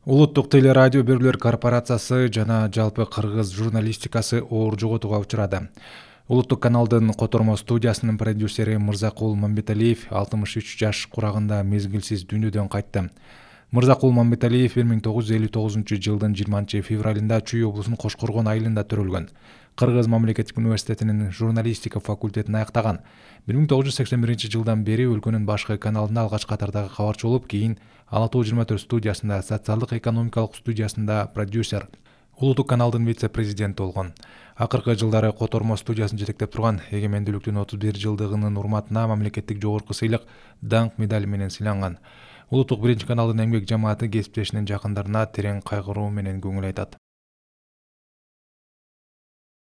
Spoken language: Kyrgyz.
Улуттук телерадио берүүлөр корпорациясы жана жалпы кыргыз журналистикасы оор жоготууга учурады. Улуттук каналдын котормо студиясынын продюсери Мырзакул Мамбеталиев 63 жаш курагында мезгилсиз дүйнөдөн кайтты. Мырзакул Мамбеталиев 1959 жылдын 20 февралында Чүй облусунун Кошкоргон айылында төрөлгөн. Кыргыз мамлекеттик университетинин журналистика факультетин аяктаган. 1981 жылдан бери өлкөнүн башкы каналында алгач катардагы кабарчы болуп, кийин Ала Тоо 24 студиясында, социалдык экономикалык студиясында продюсер, улуттук каналдын вице-президенти болгон. Акыркы жылдары котормо студиясын жетектеп турган, эгемендүүлүктүн 31 жылдыгынын урматына мамлекеттик жогорку сыйлык даңк медали менен сыйланган. Улуттук биринчи каналдын эмгек жамааты кесиптешинин жакындарына терең кайгыруу менен көңүл айтат.